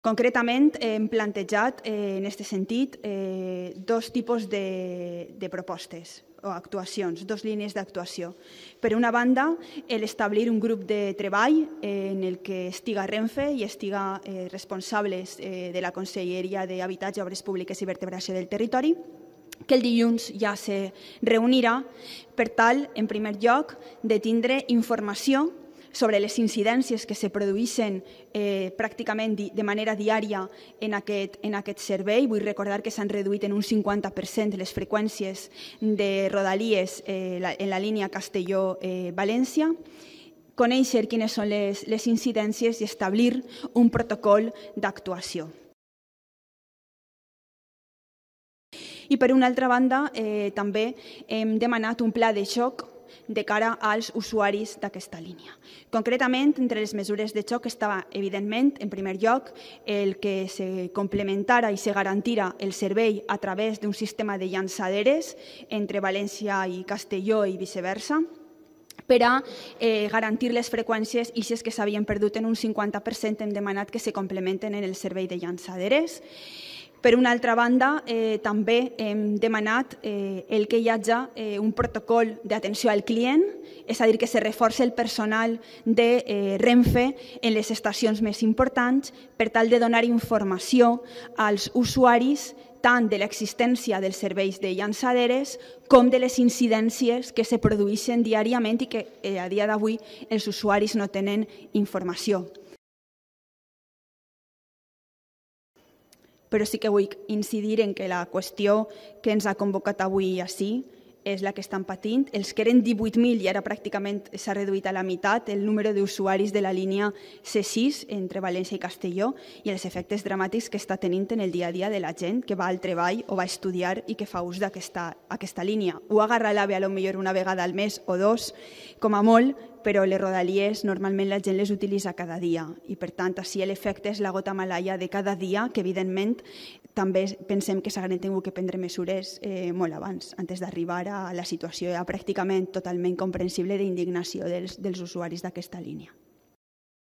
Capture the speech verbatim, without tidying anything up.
Concretament, hem plantejat, eh, en aquest sentit, eh, dos tipus de, de propostes o actuacions, dos línies d'actuació. Per una banda, l'establir un grup de treball eh, en el que estiga Renfe i estiga eh, responsables eh, de la Conselleria d'Habitatge, Obres Públiques i Vertebració del Territori, que el dilluns ja se reunirà per tal, en primer lloc, de tindre informació sobre les incidències que se produeixen eh, pràcticament de manera diària en aquest, en aquest servei. Vull recordar que s'han reduït en un cinquanta per cent les freqüències de rodalies eh, en la línia Castelló-València, conèixer quines són les, les incidències i establir un protocol d'actuació. I per una altra banda, eh, també hem demanat un pla de xoc de cara als usuaris d'aquesta línia. Concretament, entre les mesures de xoc estava, evidentment, en primer lloc, el que se complementara i se garantira el servei a través d'un sistema de llançaderes entre València i Castelló i viceversa, per a eh, garantir les freqüències i si és que s'havien perdut en un cinquanta per cent hem demanat que se complementen en el servei de llançaderes. Per una altra banda, eh, també hem demanat eh, el que hi hagi eh, un protocol d'atenció al client, és a dir, que se reforci el personal de eh, Renfe en les estacions més importants per tal de donar informació als usuaris tant de l'existència dels serveis de llançaderes com de les incidències que se produeixen diàriament i que eh, a dia d'avui els usuaris no tenen informació. Però sí que vull incidir en que la qüestió que ens ha convocat avui ací és la que estan patint. Els que eren divuit mil i ara pràcticament s'ha reduït a la meitat el número d'usuaris de la línia C sis entre València i Castelló i els efectes dramàtics que està tenint en el dia a dia de la gent que va al treball o va a estudiar i que fa ús d'aquesta línia. Ho agarra l'AVE a lo millor una vegada al mes o dos, com a molt, però les rodalies normalment la gent les utilitza cada dia i per tant així l'efecte és la gota malaia de cada dia que evidentment també pensem que s'haurien tingut que prendre mesures eh, molt abans, antes d'arribar a la situació ja pràcticament totalment comprensible d'indignació dels, dels usuaris d'aquesta línia.